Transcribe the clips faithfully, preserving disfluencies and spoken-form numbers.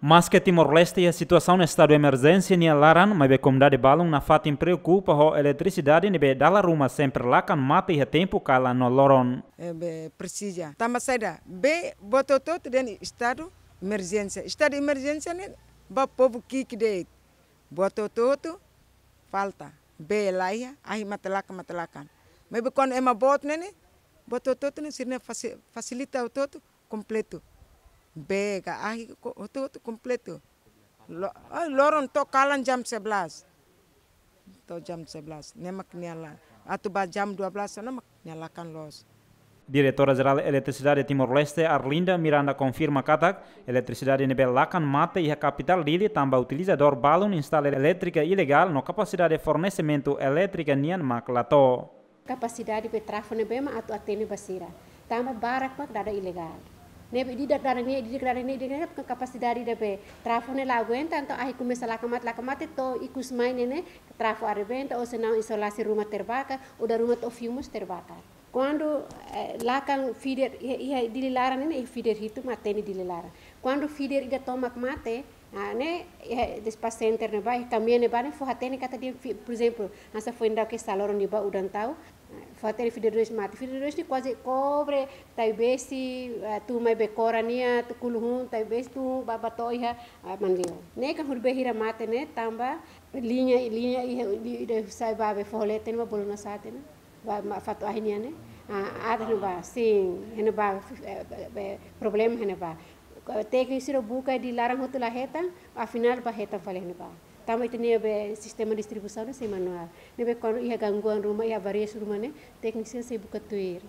Maske Timor-Leste iha situasaun estadu emerjénsia nia laran, maibé komunidade balun nafatin preokupa ho eletrisidade ne'ebé dala ruma sempre lakan mate iha tempu kalan no loron. Ne'ebé presiza. Tanba saida, bee buat hotu-hotu dehan estadu emerjénsia. Estadu emerjénsia ne'e ba povu ki'ik de'it. Buat hotu-hotu falta. Bee laiha, ahi mate lakan, mate lakan. Maibé kuandu ema boot ne'e ne'e, buat hotu-hotu ne'e sira-nia fasi-, fasilita hotu-hotu kompletu. Bee ka ahi ko-, hotu-hotu kompletu. Lo-, ai, loron to'o kalan jam sebelas. To'o jam sebelas. Ne'e mak nia la. Atu ba jam dua belas ona mak nia lakan loos. Diretora Jerál Eletrisidade Timor-Leste, Arlinda Miranda, konfirma katak eletrisidade ne'ebé lakan mate iha kapitál Dili tanba utilizadór balun instala elétrika ilegál no kapasidade fornesimentu elétrika nian mak la to'o. Kapasidade be trafo ne'ebé mak atu atende ba sira. Tanba barak mak dada ilegál. Ne'ebé ida-idak dada ne'e, ida-idak dada ne'e, ida-idak ne'e, kapasidade ida be trafo ne'e la aguenta, entaun ahi komesa lakan mate, lakan mate to'o ikus mai ne'e ne'e, trafo arrebenta, ou senão insulasi ruma terbakar, ou dala ruma to'o fiu mós terbakar. Kuandu, eh, lakan feeder, iha, iha Dili laran ne'e ne'e, feeder hitu mak atende Dili laran. Kuandu feeder ida tomak mate, ah, ne'e, iha dispatch center ne'ebá, iha kamian ne'ebá ne'e fó hatene katak dehan fi-, por ezemplu, hanesan foin daudauk kedas loron ne'ebá udan tau, ah, fó hatene feeder dois mate. Feeder dois ne'e kuaze kobre Taibesi, ah, tun mai Becora nian, tun Kuluhun, Taibesi tun ba, ba to'o iha, ah, Manleu. Ne'e kan hodi be hira mate ne'e, tanba liña, liña iha, i, i, ida sai ba be foho leten ba bolu na sate ne'e. Ba, ba fatuk ahi nian ne'e. Ah, aat ne'ebá, sin, ne'ebá, eh, eh, eh, problema ne'ebá. Tékniku sira buka iha laran hotu la hetan, afinál ba hetan fali ne'ebá. Tanba ita-nia be sistema distribuisaun ne'e sei manuál. Ne'ebé kuandu iha gangguan ruma, iha avarias ruma ne'e, tékniku sira sei buka tuir.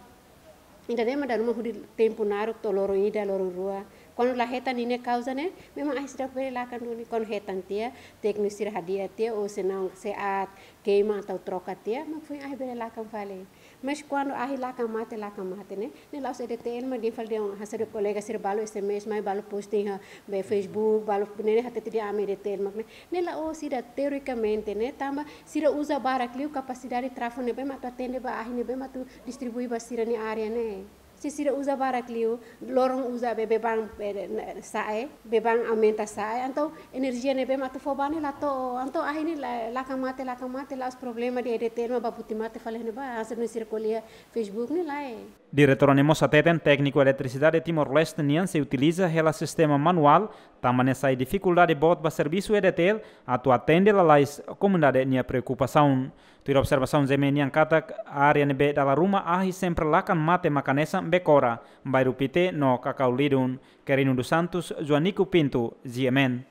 Ida-ne'e mak dala ruma hodi tempu naruk to'o loron ida, loron rua. Kuandu la hetan ninia kauza ne'e, memang ahi seidauk bele lakan duni. Kuandu hetan tiha, tékniku sira hadi'a tiha, ou senão se aat keima atau troka tiha, mak foin ahi bele lakan fali. Mas kuandu ahi lakan mate, lakan mate ne'e, ne'e la'ós E D T L mak dehan fali dehan, hanesan kolega sira balu S M S mai, balu posting iha be Facebook, balu ne'e hatete dehan ami E D T L mak ne'e. Ne'e la'ós ida teorikamente ne'e, tanba sira uza barak liu kapasidade trafo ne'ebé mak atu atende ba ahi ne'ebé mak atu distribui ba sira-nia área ne'e. Se sira uza barak liu, loron uza be beban, eh, na-, sa'e, beban aumenta sa'e, entaun enerjia ne'ebé mak atu fó ba ne'e la to'o, entaun ahi ne'e la, lakan mate, lakan mate, la'ós problema de E D T L mak ba buti mate fali ne'ebá, hanesan nune'e sira ko'alia Facebook ne'e lae. Diretora ne'e mós hateten tékniku eletrisidade Timor-Leste nian sei utiliza hela sistema manuál, tanba ne'e sai difikuldade boot ba servisu E D T L atu atende lalais komunidade nia preokupasaun. Tuir observasaun G M N nian katak, área ne'ebé dala ruma ahi sempre lakan mate mak hanesan Becora, Bairru Pité no Cacau Lydon. Querino dos Santos, Joanico Pinto, G M N.